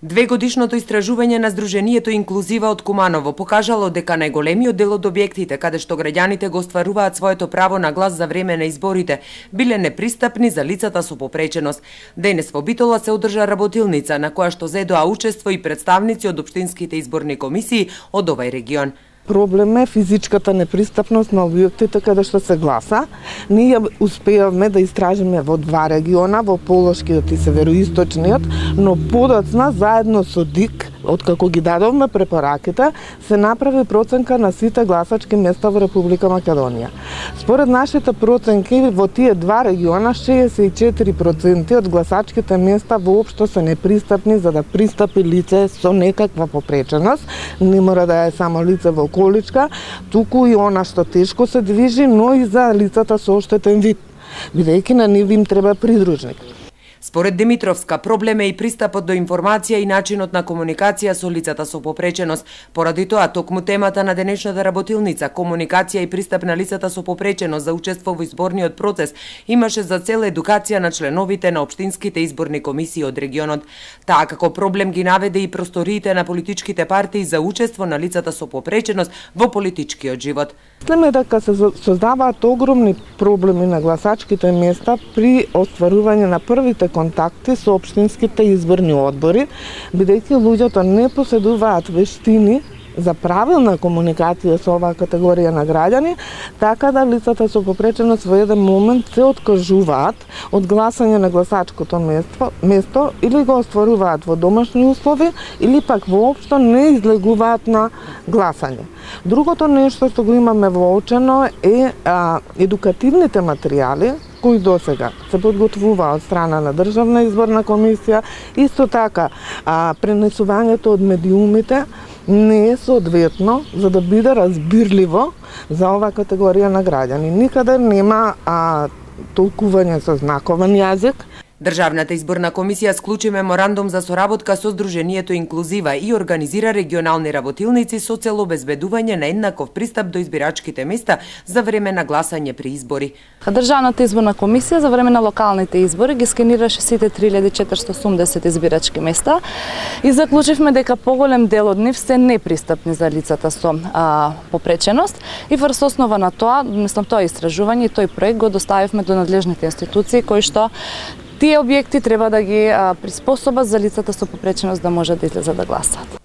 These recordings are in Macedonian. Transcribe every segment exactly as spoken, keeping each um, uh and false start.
Двегодишното истражување на Сдруженијето Инклузива од Куманово покажало дека најголемиот дел од објектите каде што граѓаните го остваруваат своето право на глас за време на изборите биле непристапни за лицата со попреченост. Денес во Битола се одржа работилница на која што зедоа учество и представници од општинските изборни комисии од овај регион. Проблем е физичката непристапност на објектите каде што се гласа. Ние успеавме да истражиме во два региона, во Полошкиот и Североисточниот, но подоцна заедно со ДИК, откако ги дадовме препораките, се направи проценка на сите гласачки места во Република Македонија. Според нашите проценки, во тие два региона, шеесет и четири проценти од гласачките места воопшто се непристапни за да пристапи лице со некаква попреченост. Не мора да е само лице во количка, туку и она што тешко се движи, но и за лицата со оштетен вид, бидејќи на нив им треба придружник. Според Димитровска, проблем е и пристапот до информација и начинот на комуникација со лицата со попреченост. Поради тоа, токму темата на денешната работилница, комуникација и пристап на лицата со попреченост за учество во изборниот процес, имаше за цел едукација на членовите на општинските изборни комисии од регионот. Таа како проблем ги наведе и просториите на политичките партии за учество на лицата со попреченост во политичкиот живот. Мислиме дека се создаваат огромни проблеми на гласачките места при остварување на првите контакти со општинските изборни одбори, бидејќи луѓето не поседуваат вештини за правилна комуникација со оваа категорија на граѓани, така да лицата со попреченост во еден момент се откажуваат од гласање на гласачкото место, место или го остваруваат во домашни услови, или пак воопшто не излегуваат на гласање. Другото нешто што го имаме воочено е а, едукативните материјали кои досега се подготвува од страна на Државна изборна комисија, исто така а, пренесувањето од медиумите не е соодветно за да биде разбирливо за оваа категорија на граѓани. Никаде нема а, толкување со знаковен јазик. Државната изборна комисија склучи меморандум за соработка со Сдруженијето Инклузива и организира регионални работилници со цел обезбедување на еднаков пристап до избирачките места за време на гласање при избори. Државната изборна комисија за време на локалните избори ги скенираше сите три илјади четиристотини и осумдесет избирачки места и заклучивме дека поголем дел од нив се непристапни за лицата со а, попреченост и врз основа на тоа, мислам тоа истражување и тој проект го доставивме до надлежните институции кои што тие објекти треба да ги а, приспособат за лицата со попреченост да можат да излезат да гласат.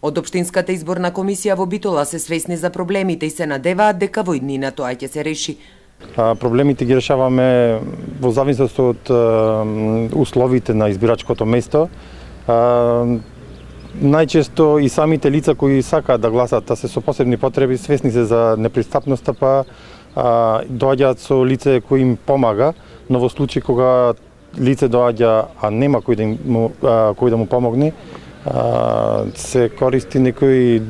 Од Општинската изборна комисија во Битола се свесни за проблемите и се надеваат дека во иднина тоа ќе се реши. А, проблемите ги решаваме во зависност од а, условите на избирачкото место. А, најчесто и самите лица кои сакаат да гласат, а се со посебни потреби, свесни се за непристапноста, па а, доаѓаат со лице кој им помага, но во случај кога лице доаѓа, а нема кој да, му, а, кој да му помогне, а, се користи некој,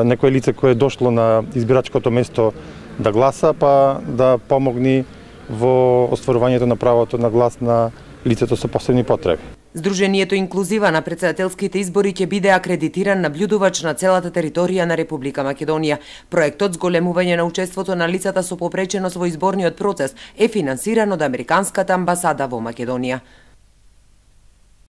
некој лице кое е дошло на избирачкото место да гласа, па да помогне во остварувањето на правото на глас на лицето со посебни потреби. Сдруженијето Инклузива на претседателските избори ќе биде акредитиран наблюдувач на целата територија на Република Македонија. Проектот зголемување на учеството на лицата со попреченост во изборниот процес е финансиран од Американската амбасада во Македонија.